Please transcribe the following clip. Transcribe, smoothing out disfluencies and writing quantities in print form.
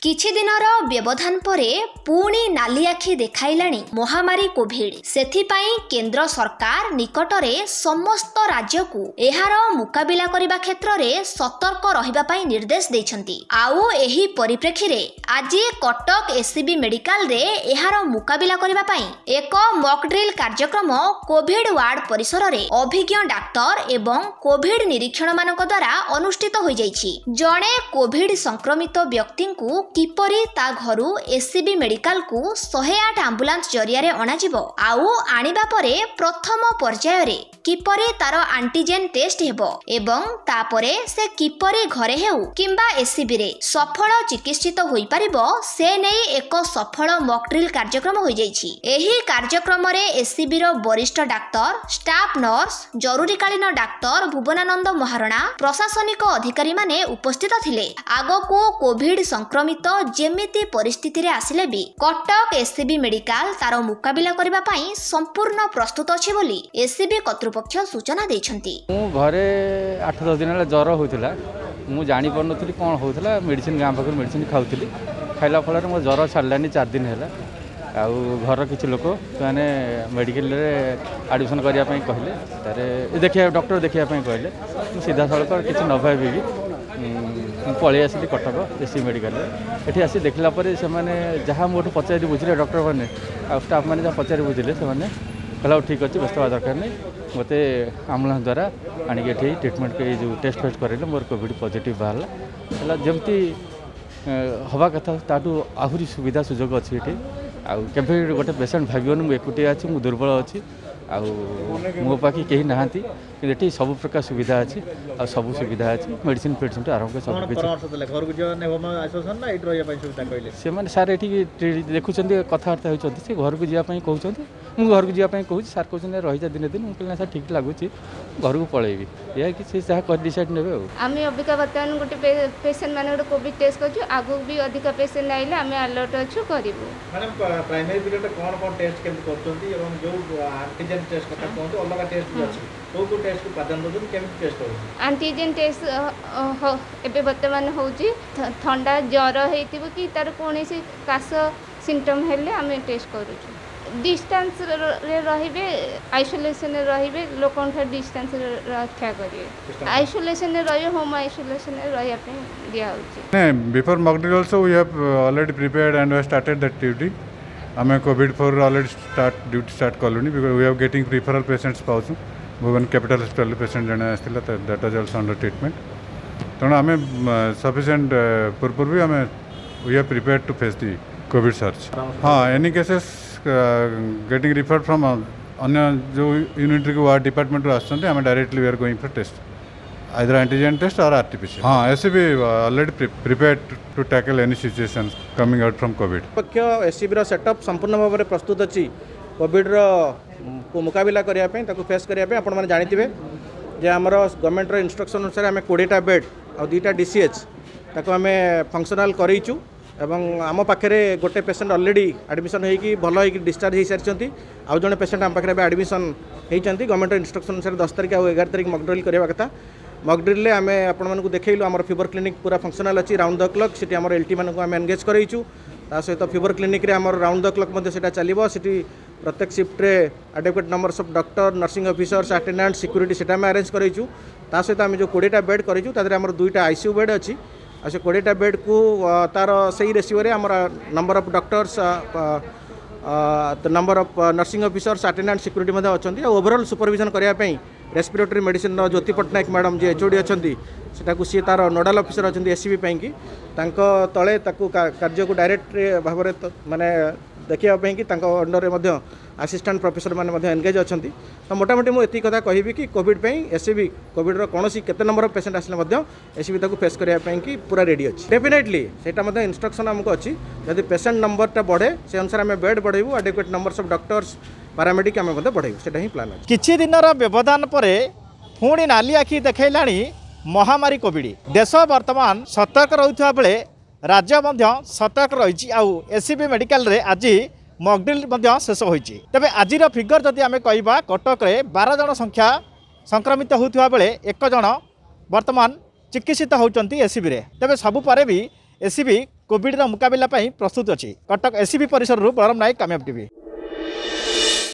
କିଛି ଦିନର ବ୍ୟବଧାନ ପରେ ପୁଣି ନାଲି ଆଖି ଦେଖାଇଲାଣି ମହାମାରୀ କୋଭିଡ। ସେଥିପାଇଁ କେନ୍ଦ୍ର ସରକାର ନିକଟରେ ସମସ୍ତ ରାଜ୍ୟକୁ ଏହାର ମୁକାବିଲା କରିବା କ୍ଷେତ୍ରରେ ସତର୍କ ରହିବା ପାଇଁ ନିର୍ଦ୍ଦେଶ ଦେଇଛନ୍ତି। ଆଉ ଏହି ପରିପ୍ରେକ୍ଷୀରେ ଆଜି କଟକ ଏସ୍ସିବି ମେଡିକାଲରେ ଏହାର ମୁକାବିଲା କରିବା ପାଇଁ ଏକ ମକ୍ ଡ୍ରିଲ୍ କାର୍ଯ୍ୟକ୍ରମ କୋଭିଡ ୱାର୍ଡ ପରିସରରେ ଅଭିଜ୍ଞ ଡାକ୍ତର ଏବଂ କୋଭିଡ ନିରୀକ୍ଷଣମାନଙ୍କ ଦ୍ୱାରା ଅନୁଷ୍ଠିତ ହୋଇଯାଇଛି। ଜଣେ କୋଭିଡ ସଂକ୍ରମିତ ବ୍ୟକ୍ତିଙ୍କୁ କିପରି ତା ଘରୁ ଏସ୍ସିବି ମେଡିକାଲକୁ 108 ଆମ୍ବୁଲାନ୍ସ ଜରିଆରେ ଅଣାଯିବ, ଆଉ ଆଣିବା ପରେ ପ୍ରଥମ ପର୍ଯ୍ୟାୟରେ କିପରି ତାର ଆଣ୍ଟିଜେନ୍ ଟେଷ୍ଟ ହେବ ଏବଂ ତାପରେ ସେ କିପରି ଘରେ ହେଉ କିମ୍ବା ଏସ୍ସିବିରେ ସଫଳ ଚିକିତ୍ସିତ ହୋଇପାରିବ, ସେ ନେଇ ଏକ ସଫଳ ମକ୍ ଡ୍ରିଲ୍ କାର୍ଯ୍ୟକ୍ରମ ହୋଇଯାଇଛି। ଏହି କାର୍ଯ୍ୟକ୍ରମରେ ଏସ୍ସିବିର ବରିଷ୍ଠ ଡାକ୍ତର, ଷ୍ଟାଫ୍ ନର୍ସ, ଜରୁରୀକାଳୀନ ଡାକ୍ତର ଭୁବନାନନ୍ଦ ମହାରଣା, ପ୍ରଶାସନିକ ଅଧିକାରୀମାନେ ଉପସ୍ଥିତ ଥିଲେ। ଆଗକୁ କୋଭିଡ ସଂକ୍ରମିତ ଯେମିତି ପରିସ୍ଥିତିରେ ଆସିଲେ ବି କଟକ ଏସ୍ସିବି ମେଡିକାଲ ତାର ମୁକାବିଲା କରିବା ପାଇଁ ସମ୍ପୂର୍ଣ୍ଣ ପ୍ରସ୍ତୁତ ଅଛି ବୋଲି ଏସ୍ସିବି କର୍ତ୍ତୃପକ୍ଷ ସୂଚନା ଦେଇଛନ୍ତି। ମୁଁ ଘରେ 8 10 ଦିନ ହେଲା ଜ୍ୱର ହେଉଥିଲା, ମୁଁ ଜାଣିପାରୁନଥିଲି କ'ଣ ହେଉଥିଲା। ମେଡ଼ିସିନ ଗାଁ ପାଖରୁ ମେଡ଼ିସିନ ଖାଉଥିଲି, ଖାଇଲା ଫଳରେ ମୋ ଜ୍ୱର ଛାଡ଼ିଲାନି। 4 ଦିନ ହେଲା, ଆଉ ଘରର କିଛି ଲୋକ ସେମାନେ ମେଡ଼ିକାଲରେ ଆଡ଼ମିସନ୍ କରିବା ପାଇଁ କହିଲେ, ତାରେ ଦେଖିବା ଡକ୍ଟର ଦେଖିବା ପାଇଁ କହିଲେ। ମୁଁ ସିଧାସଳଖ କିଛି ନ ଭାବିକି ମୁଁ ପଳେଇ ଆସିଲି କଟକ ଏସ୍ ସି ମେଡ଼ିକାଲରେ। ଏଠି ଆସି ଦେଖିଲା ପରେ ସେମାନେ ଯାହା ମୋଠୁ ପଚାରି ବୁଝିଲେ, ଡକ୍ଟରମାନେ ଆଉ ଷ୍ଟାଫ୍ମାନେ ଯାହା ପଚାରି ବୁଝିଲେ, ସେମାନେ କହିଲେ ହଉ ଠିକ୍ ଅଛି, ବ୍ୟସ୍ତ ହେବା ଦରକାର ନାହିଁ। ମୋତେ ଆମ୍ବୁଲାନ୍ସ ଦ୍ୱାରା ଆଣିକି ଏଠି ଟ୍ରିଟମେଣ୍ଟ, ଏଇ ଯେଉଁ ଟେଷ୍ଟ ଫେଷ୍ଟ କରାଇଲେ, ମୋର କୋଭିଡ଼ ପଜିଟିଭ୍ ବାହାରିଲା। ହେଲା ଯେମିତି ହେବା କଥା ତାଠୁ ଆହୁରି ସୁବିଧା ସୁଯୋଗ ଅଛି ଏଠି। ଆଉ କେବେ ଗୋଟେ ପେସେଣ୍ଟ ଭାବିବନି ମୁଁ ଏକୁଟିଆ ଅଛି, ମୁଁ ଦୁର୍ବଳ ଅଛି ଆଉ ମୋ ପାଖେ କେହି ନାହାନ୍ତି। କିନ୍ତୁ ଏଠି ସବୁ ପ୍ରକାର ସୁବିଧା ଅଛି, ଆଉ ସବୁ ସୁବିଧା ଅଛି, ମେଡ଼ିସିନ ଫେଡ଼ିସିନଠୁ ଆରମ୍ଭ କରି ସବୁ କିଛି। ସେମାନେ ସାର୍ ଏଠି ଦେଖୁଛନ୍ତି, କଥାବାର୍ତ୍ତା ହେଉଛନ୍ତି, ସେ ଘରକୁ ଯିବା ପାଇଁ କହୁଛନ୍ତି। ମୁଁ ଘରକୁ ଯିବା ପାଇଁ କହୁଛି, ସାର୍ କହୁଛନ୍ତି ରହିଯା ଦିନେ ଦିନ। ମୁଁ କହିଲି ନା ସାର୍, ଠିକ୍ ଲାଗୁଛି, ଘରକୁ ପଳେଇବି। ଏହା କି ସେ ଯାହା କରି ଡିସାଇଡ଼ ନେବେ। ଆଉ ଆମେ ଅବିକା ବର୍ତ୍ତମାନ ଗୋଟେ ପେସେଣ୍ଟ ମାନେ ଗୋଟେ କୋଭିଡ଼ ଟେଷ୍ଟ କରୁଛୁ। ଆଗକୁ ବି ଅଧିକ ପେସେଣ୍ଟ ଆଇଲେ ଆମେ ଆଲର୍ଟ ଅଛୁ, କରିବୁ। ମ୍ୟାଡ଼ାମ୍, ପ୍ରାଇମେରୀ ପିରିୟଡ଼ରେ କ'ଣ କ'ଣ ଟେଷ୍ଟ କେମିତି କରୁଛନ୍ତି ଏବଂ ଯେଉଁ ଆଣ୍ଟିଜେନ୍ ଟେଷ୍ଟ କଥା କୁହନ୍ତୁ, ଅଲଗା ଟେଷ୍ଟ ବି ଅଛି, କେଉଁ କେଉଁ ଟେଷ୍ଟକୁ ପ୍ରାଧାନ୍ୟ ଦେଉଛନ୍ତି, କେମିତି ଟେଷ୍ଟ ହେଉଛି? ଆଣ୍ଟିଜେନ୍ ଟେଷ୍ଟ ଏବେ ବର୍ତ୍ତମାନ ହେଉଛି। ଥଣ୍ଡା ଜ୍ୱର ହେଇଥିବ କି ତାର କୌଣସି କାଶ ସିମ୍ପଟମ୍ ହେଲେ ଆମେ ଟେଷ୍ଟ କରୁଛୁ। ଡିଷ୍ଟାନ୍ସରେ ରହିବେ, ଆଇସୋଲେସନରେ ରହିବେ, ଲୋକଙ୍କଠାରୁ ଡିଷ୍ଟାନ୍ସରେ ରକ୍ଷା କରିବେ, ଆଇସୋଲେସନରେ ରହିବେ, ହୋମ୍ ଆଇସୋଲେସନରେ ରହିବା ପାଇଁ ଦିଆହେଉଛି। Before mock drill also we have already prepared and we have started that duty. ଆମେ Covid 4 already start duty start କଲୁଣି, because we have getting referral patients ପାଉଛୁ। ଭୁବନ କ୍ୟାପିଟାଲ ହସ୍ପିଟାଲ ପେସେଣ୍ଟ ଜଣେ ଆସିଥିଲା, that was also under treatment. ତେଣୁ ଆମେ sufficient ପୂର୍ବରୁ ବି ଆମେ we are prepared to face the Covid surge. ହଁ, any cases getting referred from ଅନ୍ୟ ଯେଉଁ ୟୁନିଟ୍‌କୁ ୱାର୍ଡ଼ ଡିପାର୍ଟମେଣ୍ଟରୁ ଆସୁଛନ୍ତି, ଆମେ directly we are going for test, either antigen test or RT-PCR. ହଁ, SCB already prepared to tackle any situation coming out from COVID. ପକ୍ଷ ଏସ୍ସିବିର setup ସମ୍ପୂର୍ଣ୍ଣ ଭାବରେ ପ୍ରସ୍ତୁତ ଅଛି କୋଭିଡ଼ର ମୁକାବିଲା କରିବା ପାଇଁ, ତାକୁ ଫେସ୍ କରିବା ପାଇଁ। ଆପଣମାନେ ଜାଣିଥିବେ ଯେ ଆମର ଗଭର୍ଣ୍ଣମେଣ୍ଟର ଇନଷ୍ଟ୍ରକ୍ସନ୍ ଅନୁସାରେ ଆମେ 20ଟା ବେଡ୍ ଆଉ 2ଟା ଡିସିଏଚ୍ ତାକୁ ଆମେ ଫଙ୍କସନାଲ୍ କରେଇଛୁ ଏବଂ ଆମ ପାଖରେ ଗୋଟେ ପେସେଣ୍ଟ ଅଲରେଡ଼ି ଆଡ଼ମିସନ୍ ହେଇକି ଭଲ ହେଇକି ଡିସଚାର୍ଜ ହେଇସାରିଛନ୍ତି। ଆଉ ଜଣେ ପେସେଣ୍ଟ ଆମ ପାଖରେ ଏବେ ଆଡ଼ମିସନ୍ ହେଇଛନ୍ତି। ଗଭର୍ଣ୍ଣମେଣ୍ଟର ଇନଷ୍ଟ୍ରକ୍ସନ୍ ଅନୁସାରେ 10 ତାରିଖ ଆଉ 11 ତାରିଖ ମକଡ୍ରିଲ୍ କରିବା କଥା। ମକଡ୍ରିଲ୍ରେ ଆମେ ଆପଣମାନଙ୍କୁ ଦେଖେଇଲୁ, ଆମର ଫିଭର କ୍ଲିନିକ୍ ପୁରା ଫଙ୍କସନାଲ୍ ଅଛି ରାଉଣ୍ଡ ଦ କ୍ଲକ୍। ସେଠି ଆମର ଏଲ୍ ଟି ମାନଙ୍କୁ ଆମେ ଏନଗେଜ୍ କରେଇଛୁ। ତା ସହିତ ଫିଭର କ୍ଲିନିକ୍ରେ ଆମର ରାଉଣ୍ଡ ଦ କ୍ଲକ୍ ମଧ୍ୟ ସେଇଟା ଚାଲିବ। ସେଠି ପ୍ରତ୍ୟେକ ସିଫ୍ଟରେ adequate numbers of doctor, nursing officers, attendant, security ସେଇଟା ଆମେ ଆରେଞ୍ଜ କରେଇଛୁ। ତା ସହିତ ଆମେ ଯେଉଁ 20ଟା ବେଡ୍ କରିଛୁ, ତା ଦେହରେ ଆମର 2ଟା ଆଇସିୟୁ ବେଡ୍ ଅଛି। ଆଉ ସେ 20ଟା ବେଡ୍କୁ ତାର ସେଇ ରେସିଓରେ ଆମର number of doctors, number of nursing officers, attendant, security ମଧ୍ୟ ଅଛନ୍ତି। ଆଉ ଓଭରଅଲ୍ ସୁପରଭିଜନ୍ କରିବା ପାଇଁ ରେସ୍ପିରେଟୋରୀ ମେଡ଼ିସିନର ଜ୍ୟୋତି ପଟ୍ଟନାୟକ ମ୍ୟାଡ଼ାମ୍ ଯିଏ ଏଚ୍ ଓ ଡ଼ି ଅଛନ୍ତି, ସେଟାକୁ ସିଏ ତାର ନୋଡ଼ାଲ୍ ଅଫିସର ଅଛନ୍ତି ଏସ୍ ସି ବି ପାଇଁକି। ତାଙ୍କ ତଳେ ତାକୁ କାର୍ଯ୍ୟକୁ ଡାଇରେକ୍ଟ ଭାବରେ ମାନେ ଦେଖିବା ପାଇଁକି ତାଙ୍କ ଅଣ୍ଡରରେ ମଧ୍ୟ ଆସିଷ୍ଟାଣ୍ଟ ପ୍ରଫେସର ମାନେ ମଧ୍ୟ ଏନଗେଜ୍ ଅଛନ୍ତି। ତ ମୋଟାମୋଟି ମୁଁ ଏତିକି କଥା କହିବି କି କୋଭିଡ଼ ପାଇଁ ଏସ୍ ସି ବି କୋଭିଡ଼ର କୌଣସି କେତେ ନମ୍ବର ଅଫ୍ ପେସେଣ୍ଟ ଆସିଲେ ମଧ୍ୟ ଏସ୍ ସି ବି ତାକୁ ଫେସ୍ କରିବା ପାଇଁକି ପୁରା ରେଡ଼ି ଅଛି। ଡେଫିନେଟଲି ସେଇଟା ମଧ୍ୟ ଇନଷ୍ଟ୍ରକ୍ସନ୍ ଆମକୁ ଅଛି, ଯଦି ପେସେଣ୍ଟ ନମ୍ବରଟା ବଢ଼େ ସେ ଅନୁସାରେ ଆମେ bed ବଢ଼େଇବୁ, adequate numbers of doctors, paramedic ଆମେ ମଧ୍ୟ ବଢ଼େଇବୁ, ସେଇଟା ହିଁ ପ୍ଲାନ୍ ଅଛି। କିଛି ଦିନର ବ୍ୟବଧାନ ପରେ ପୁଣି ନାଲି ଆଖି ଦେଖାଇଲାଣି ମହାମାରୀ କୋଭିଡ଼। ଦେଶ ବର୍ତ୍ତମାନ ସତର୍କ ରହୁଥିବା ବେଳେ ରାଜ୍ୟ ମଧ୍ୟ ସତର୍କ ରହିଛି। ଆଉ ଏସ୍ସିବି ମେଡ଼ିକାଲରେ ଆଜି ମକଡ୍ରିଲ୍ ମଧ୍ୟ ଶେଷ ହୋଇଛି। ତେବେ ଆଜିର ଫିଗର ଯଦି ଆମେ କହିବା, କଟକରେ 12 ଜଣ ସଂଖ୍ୟା ସଂକ୍ରମିତ ହେଉଥିବା ବେଳେ 1 ଜଣ ବର୍ତ୍ତମାନ ଚିକିତ୍ସିତ ହେଉଛନ୍ତି ଏସ୍ସିବିରେ। ତେବେ ସବୁ ପରେ ବି ଏସ୍ସିବି କୋଭିଡର ମୁକାବିଲା ପାଇଁ ପ୍ରସ୍ତୁତ ଅଛି। କଟକ ଏସ୍ସିବି ପରିସରରୁ ବଳରାମ ନାୟକ, କାମିୟାବ ଟିଭି।